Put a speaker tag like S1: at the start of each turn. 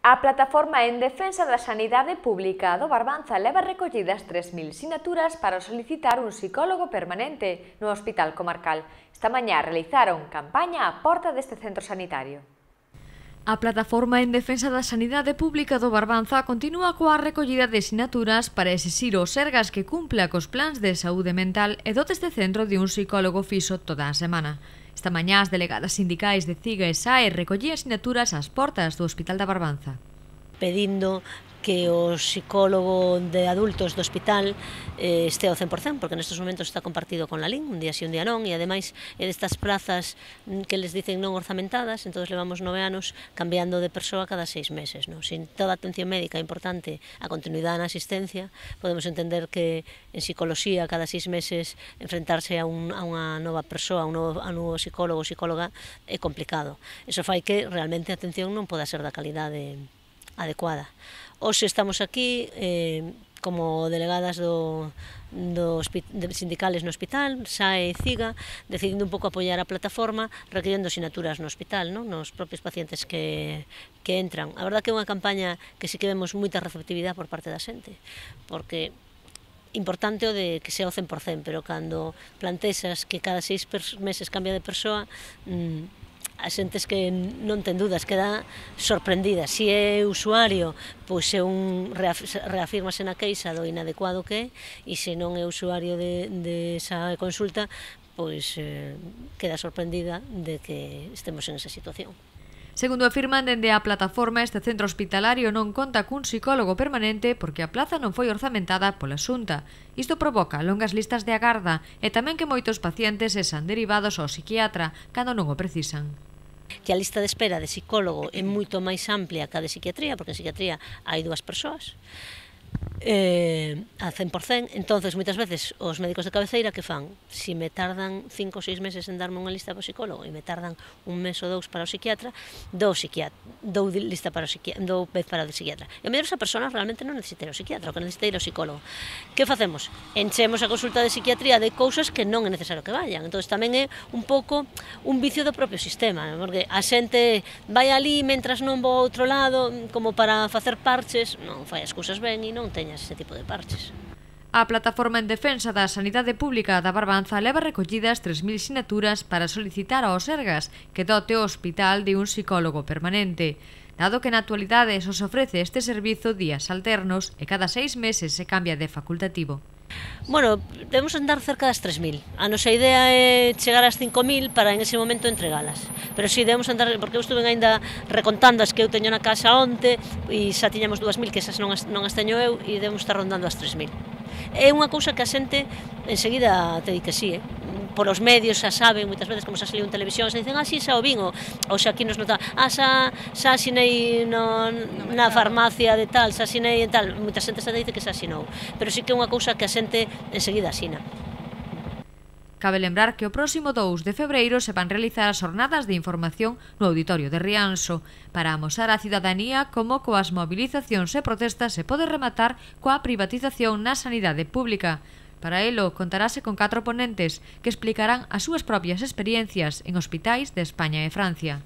S1: A plataforma en defensa da sanidade pública do Barbanza leva recollidas 3.000 sinaturas para solicitar un psicólogo permanente no Hospital Comarcal. Esta mañá realizaron campaña á porta deste centro sanitario. A plataforma en defensa da sanidade pública do Barbanza continúa coa recollida de sinaturas para exixir ao Sergas que cumpla cos plans de saúde mental e dote este centro de un psicólogo fixo toda a semana. Esta mañá as delegadas sindicais de CIGA e SAE recollían sinaturas ás portas do Hospital da Barbanza.
S2: Pedindo que o psicólogo de adultos do hospital este ao 100%, porque nestes momentos está compartido con Lalín, un día sí, un día non, e ademais é destas plazas que les dicen non orzamentadas, entón levamos 9 anos cambiando de persoa cada 6 meses. Sin toda a atención médica importante a continuidade na asistencia, podemos entender que en psicoloxía cada 6 meses enfrentarse a unha nova persoa, a un novo psicólogo ou psicóloga é complicado. Iso fai que realmente a atención non poda ser da calidade adecuada. Hoxe estamos aquí como delegadas sindicales no hospital, SAE e CIGA, decidindo un pouco apoiar a plataforma, requiriendo sinaturas no hospital, nos propios pacientes que entran. A verdad que é unha campaña que sí que vemos moita receptividade por parte da xente, porque importante o de que sea o 100%, pero cando plantexas que cada 6 meses cambia de persoa, a xentes que non ten dudas, queda sorprendida. Se é usuario, pois reafírmase na queixa do inadecuado que é, e se non é usuario de esa consulta, pois queda sorprendida de que estemos en esa situación.
S1: Segundo afirman dende a plataforma, este centro hospitalario non conta cun psicólogo permanente porque a plaza non foi orzamentada pola Xunta. Isto provoca longas listas de agarda e tamén que moitos pacientes sexan derivados ao psiquiatra cando non o precisan.
S2: Que a lista de espera de psicólogo é moito máis amplia que a de psiquiatría, porque en psiquiatría hai 2 persoas, a 100%, entonces moitas veces os médicos de cabeceira que fan, se me tardan 5 ou 6 meses en darme unha lista para o psicólogo e me tardan un mes ou 2 para o psiquiatra, dou lista para o psiquiatra, dou vez para o psiquiatra. E a mellor esa persona realmente non necesita ir ao psiquiatra, o que necesita ir ao psicólogo. Que facemos? Enchemos a consulta de psiquiatría de cousas que non é necesario que vayan. Entón tamén é un pouco un vicio do propio sistema, porque a xente vai ali mentras non vou ao outro lado como para facer parches, non fai as cousas ben e non teña ese tipo de parches.
S1: A plataforma en defensa da sanidade pública da Barbanza leva recollidas 3.000 sinaturas para solicitar ao Sergas que dote o hospital de un psicólogo permanente, dado que na actualidade só se ofrece este servizo días alternos e cada 6 meses se cambia de facultativo.
S2: Bueno, debemos andar cerca das 3.000. A nosa idea é chegar ás 5.000 para en ese momento entregalas. Pero si debemos andar, porque eu estuve ainda recontando as que eu teño na casa onte e xa tiñamos 2.000, que esas non as teño eu, e debemos estar rondando as 3.000. É unha cousa que a xente enseguida te di que sí, por os medios xa saben, moitas veces como xa saliu en televisión, xa dicen, si, xa o vin, ou xa aquí nos nota, xa asinei na farmacia de tal, xa asinei en tal, moita xente xa dice que xa asinou, pero sí que é unha cousa que a xente enseguida asina.
S1: Cabe lembrar que o próximo 2 de febreiro se van realizar as jornadas de información no Auditorio de Rianxo para amosar á cidadanía como coas movilizacións e protestas se pode rematar coa privatización na sanidade pública. Para elo, contarase con 4 ponentes que explicarán as súas propias experiencias en hospitais de España e Francia.